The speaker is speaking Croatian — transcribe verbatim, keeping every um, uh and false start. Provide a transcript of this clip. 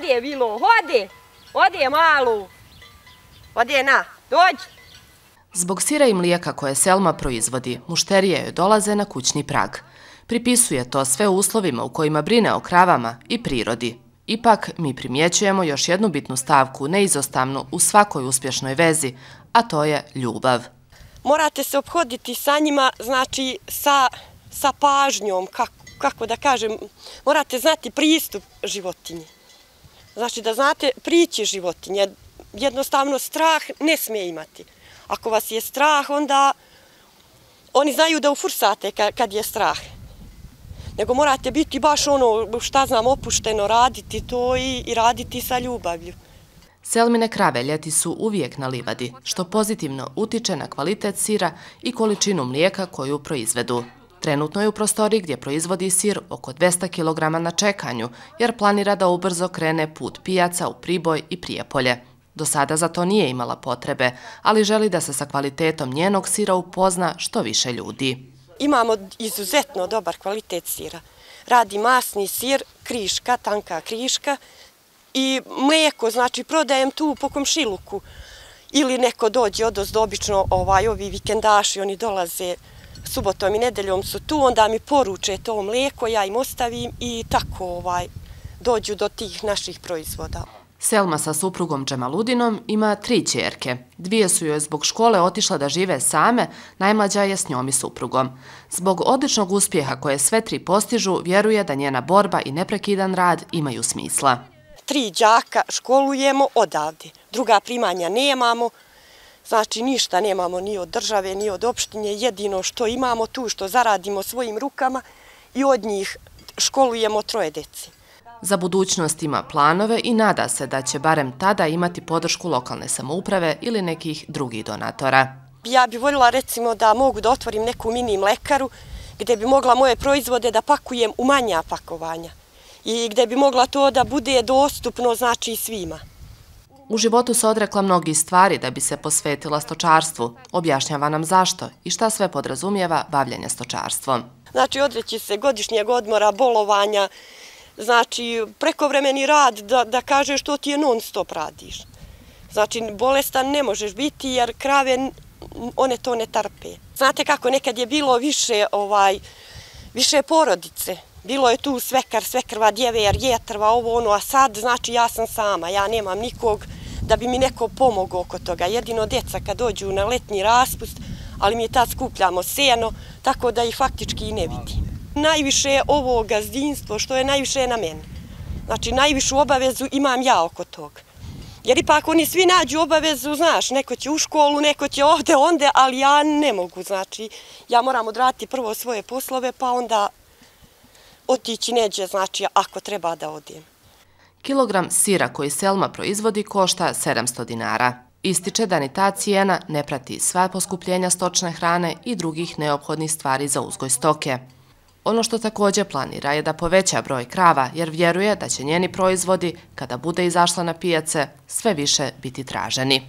ode bilo, ode, ode malu, ode na, dođi. Zbog sira i mlijeka koje Selma proizvodi, mušterije joj dolaze na kućni prag. Pripisuje to sve uslovima u kojima brine o kravama i prirodi. Ipak, mi primjećujemo još jednu bitnu stavku neizostavnu u svakoj uspješnoj vezi, a to je ljubav. Morate se ophoditi sa njima, znači sa, sa pažnjom, kako, kako da kažem, morate znati pristup životinji. Znači da znate prići životinje, jednostavno strah ne smije imati. Ako vas je strah, onda oni znaju da ufursate kad je strah. Nego morate biti baš ono, šta znam, opušteno, raditi to i, i raditi sa ljubavlju. Selmine krave ljeti su uvijek na livadi, što pozitivno utiče na kvalitet sira i količinu mlijeka koju proizvedu. Trenutno je u prostoriji gdje proizvodi sir oko dvesta kilograma na čekanju, jer planira da ubrzo krene put pijaca u Priboj i Prijepolje. Do sada za to nije imala potrebe, ali želi da se sa kvalitetom njenog sira upozna što više ljudi. Imamo izuzetno dobar kvalitet sira. Radi masni sir, kriška, tanka kriška i mlijeko, znači prodajem tu po komšiluku. Ili neko dođe odozdo, obično ovaj, ovi vikendaši, oni dolaze subotom i nedeljom su tu, onda mi poruče to mlijeko, ja im ostavim i tako ovaj, dođu do tih naših proizvoda. Selma sa suprugom Džemaludinom ima tri ćerke. Dvije su joj zbog škole otišle da žive same, najmlađa je s njom i suprugom. Zbog odličnog uspjeha koje sve tri postižu, vjeruje da njena borba i neprekidan rad imaju smisla. Tri đaka školujemo odavde, druga primanja nemamo, znači ništa nemamo ni od države, ni od opštine, jedino što imamo tu što zaradimo svojim rukama i od njih školujemo troje dece. Za budućnost ima planove i nada se da će barem tada imati podršku lokalne samouprave ili nekih drugih donatora. Ja bih voljela recimo da mogu da otvorim neku mini mlekaru gdje bi mogla moje proizvode da pakujem u manja pakovanja i gdje bi mogla to da bude dostupno znači svima. U životu se odrekla mnogih stvari da bi se posvetila stočarstvu. Objašnjava nam zašto i šta sve podrazumijeva bavljenje stočarstvom. Znači odreći se godišnjeg odmora, bolovanja, znači prekovremeni rad da, da kažeš što ti je non stop radiš. Znači bolestan ne možeš biti jer krave one to ne trpe. Znate kako nekad je bilo više, ovaj, više porodice. Bilo je tu svekar, svekrva, djever, jetrva, ovo ono, a sad znači ja sam sama, ja nemam nikog da bi mi neko pomogao oko toga. Jedino djeca kad dođu na letnji raspust, ali mi tad skupljamo seno, tako da ih faktički i ne vidim. Najviše je ovo gazdinstvo što je najviše na meni. Znači najvišu obavezu imam ja oko toga. Jer ipak oni svi nađu obavezu, znaš, neko će u školu, neko će ovde, onde, ali ja ne mogu, znači ja moram odraditi prvo svoje poslove pa onda otići neđe, znači ako treba da odem. Kilogram sira koji Selma proizvodi košta sedamsto dinara. Ističe da ni ta cijena ne prati sva poskupljenja stočne hrane i drugih neophodnih stvari za uzgoj stoke. Ono što također planira je da poveća broj krava jer vjeruje da će njeni proizvodi, kada bude izašla na pijace, sve više biti traženi.